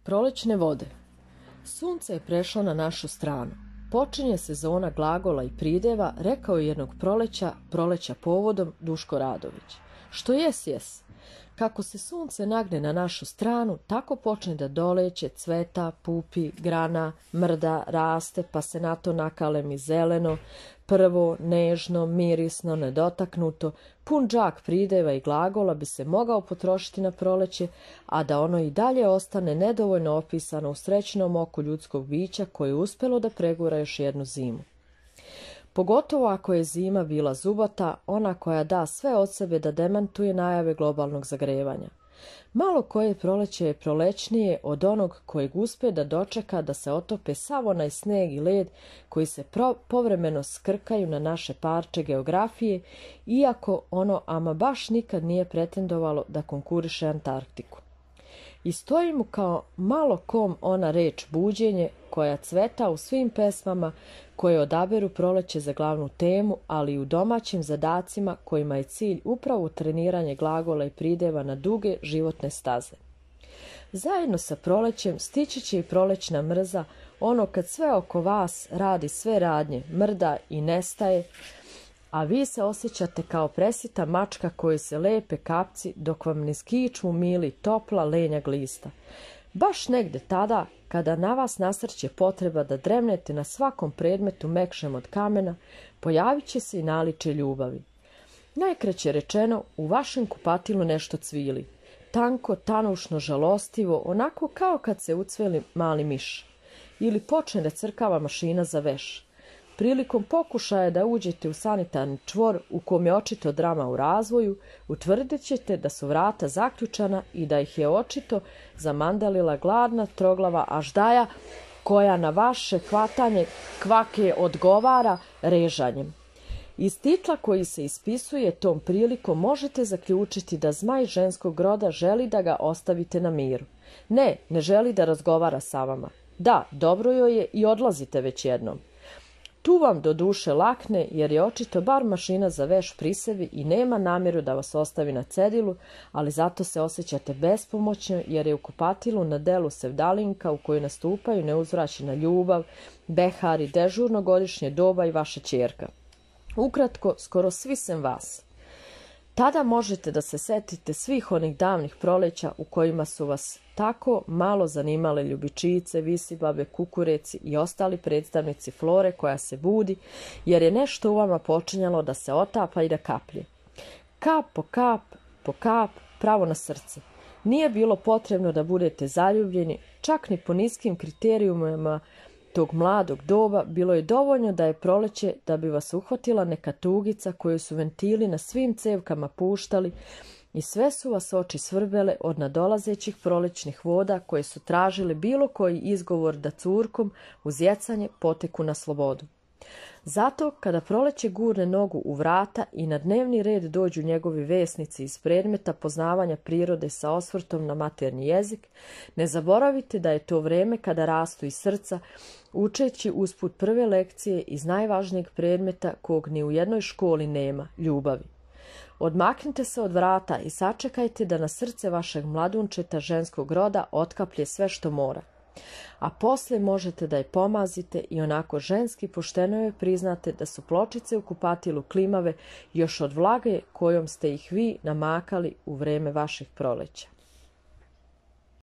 Prolećne vode. Sunce je prešlo na našu stranu. Počinje sezona glagola i prideva, rekao je jednog proleća povodom Duško Radović. Što jes. Kako se sunce nagne na našu stranu, tako počne da doleće, cveta, pupi, grana, mrda, raste, pa se na to nakalemi zeleno, prvo, nežno, mirisno, nedotaknuto, pun džak prideva i glagola bi se mogao potrošiti na proleće, a da ono i dalje ostane nedovoljno opisano u srećnom oku ljudskog bića koje je uspelo da pregura još jednu zimu. Pogotovo ako je zima bila zubata, ona koja da sve od sebe da demantuje najave globalnog zagrevanja. Malo koje proleće je prolećnije od onog kojeg uspe da dočeka da se otope sav onaj sneg i led koji se povremeno skrkaju na naše parče geografije, iako ono ama baš nikad nije pretendovalo da konkuriše Antarktiku. I stoji mu kao malo kom ona reč buđenje koja cveta u svim pesmama koje odaberu proleće za glavnu temu, ali i u domaćim zadacima kojima je cilj upravo treniranje glagola i prideva na duge životne staze. Zajedno sa prolećem stići će i prolećna mrza, ono kad sve oko vas radi sve radnje, mrda i nestaje, a vi se osjećate kao presita mačka koji se lepe kapci dok vam ne skiču mili topla lenja glista. Baš negde tada, kada na vas nasrće potreba da dremnete na svakom predmetu mekšem od kamena, pojavit će se i naličje ljubavi. Najkraće rečeno, u vašem kupatilu nešto cvili. Tanko, tanušno, žalostivo, onako kao kad se ucveli mali miš. Ili počne da crkava mašina za veš. Prilikom pokušaja da uđete u sanitarni čvor u kom je očito drama u razvoju, utvrdit ćete da su vrata zaključana i da ih je očito zamandalila gladna troglava aždaja koja na vaše hvatanje kvake odgovara režanjem. Iz titla koji se ispisuje tom prilikom možete zaključiti da zmaj ženskog roda želi da ga ostavite na miru. Ne želi da razgovara sa vama. Da, dobro joj je i odlazite već jednom. Tu vam do duše lakne jer je očito bar mašina za veš pri sebi i nema namjeru da vas ostavi na cedilu, ali zato se osjećate bespomoćno jer je u kupatilu na delu sevdalinka u kojoj nastupaju neuzvraćena ljubav, behari, dežurno godišnje doba i vaša ćerka. Ukratko, skoro svi sem vas. Tada možete da se setite svih onih davnih proleća u kojima su vas tako malo zanimale ljubičice, visibabe, kukureci i ostali predstavnici flore koja se budi, jer je nešto u vama počinjalo da se otapa i da kaplje. Kap po kap, pravo na srce. Nije bilo potrebno da budete zaljubljeni, čak ni po niskim kriterijumima tog mladog doba, bilo je dovoljno da je proleće da bi vas uhvatila neka tugica koju su ventili na svim cevkama puštali i sve su vas oči svrbele od nadolazećih prolećnih voda koje su tražile bilo koji izgovor da curkom uz jecanje poteku na slobodu. Zato, kada proleće gurne nogu u vrata i na dnevni red dođu njegovi vesnici iz predmeta poznavanja prirode sa osvrtom na maternji jezik, ne zaboravite da je to vreme kada rastu iz srca, učeći usput prve lekcije iz najvažnijeg predmeta kog ni u jednoj školi nema, ljubavi. Odmaknite se od vrata i sačekajte da na srce vašeg mladunčeta ženskog roda otkaplje sve što mora. A posle možete da je pomazite i onako ženski pošteno joj priznate da su pločice u kupatilu klimave još od vlage kojom ste ih vi namakali u vreme vaših proleća.